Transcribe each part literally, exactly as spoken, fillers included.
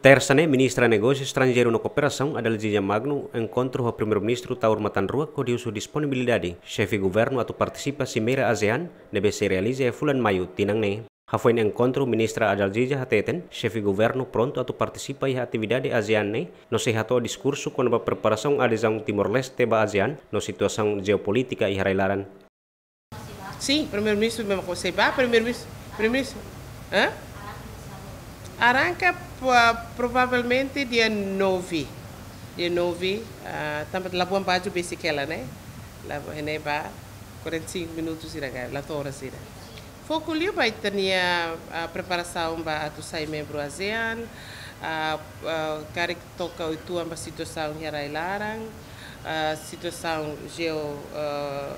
Tersa ne'e, Ministra Negósiu Estranjeiru no Kooperasaun, Adalgisa Magno, enkontru ho Primeiru-Ministru Taur Matan Ruak hodi husu disponibilidade xefe governu atu partisipa Simeira ASEAN ne'ebé sei realiza iha fulan Maiu tinan ne'e. Hafoin enkontru, Ministra Adalgisa hateten, xefe governu prontu atu partisipa iha atividade ASEAN ne'e, no sei hato'o diskursu kona-ba preparasaun adezaun Timor-Leste ba ASEAN, no situasaun jeopolítika iha rai-laran. Sim, Primeiru-Ministru mesmu consegue ba, Primeiru-Ministru, Primeiru-Ministru, hã? Arranka pa-, provavelmente dia nove. Dia nove, ah, tanba la buan baju besik hela, né? La buan, ne'e ba quarenta e cinco minutos sira ka, la to'o oras sira. Foku liu ba ita-nia, ah, preparasaun ba atu sai membru ASEAN, ah, ah, karik toka uitoan ba situasaun iha rai-laran, ah, situasaun jeo, ah,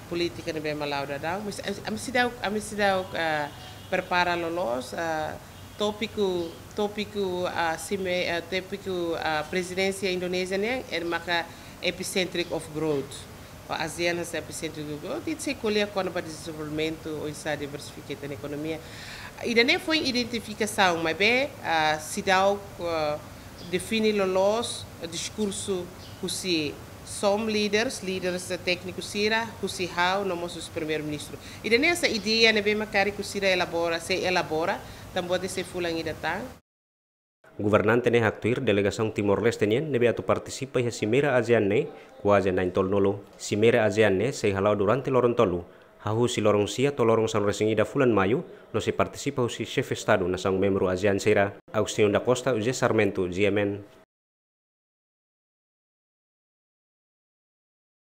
polítika ne'ebé mak la'o daudaun, mas ami, ami seidauk, ami seidauk, ah, prepara loloos, ah, tópiku, tópiku, ah, sime-, ah, tópiku, ah, prezidénsia Indonézia nian, ida maka epicentric of growth. Ou ASEAN hanesan epicentric of growth, ita sei ko'alia kona-ba dezenvolvimentu, oinsá diversifika ita-nia ekonomia. Ida-ne'e foin identifikasaun, maibé, ah, seidauk, ah, define loloos, ah, diskursu husi some leaders, líderes tékniku sira, husi ha'u, no mós husi Primeiru-Ministru. Ida-ne'e hanesan ideia ne'ebé mak karik sira elabora, sei elabora, tanba ida sei fulan ida tan. Governante ne'e haktuir delegasaun Timor-Leste nian ne'ebé atu partisipa iha Simeira ASEAN ne'e kuaze na'in-tolunulu. Simeira ASEAN ne'e sei hala'o durante loron tolu, hahú husi loron sia to'o loron sanulu-resin-ida fulan Maiu, no sei partisipa husi xefe Estadu nasaun membru ASEAN sira. Agostinho da Costa, José Sarmento, G M N.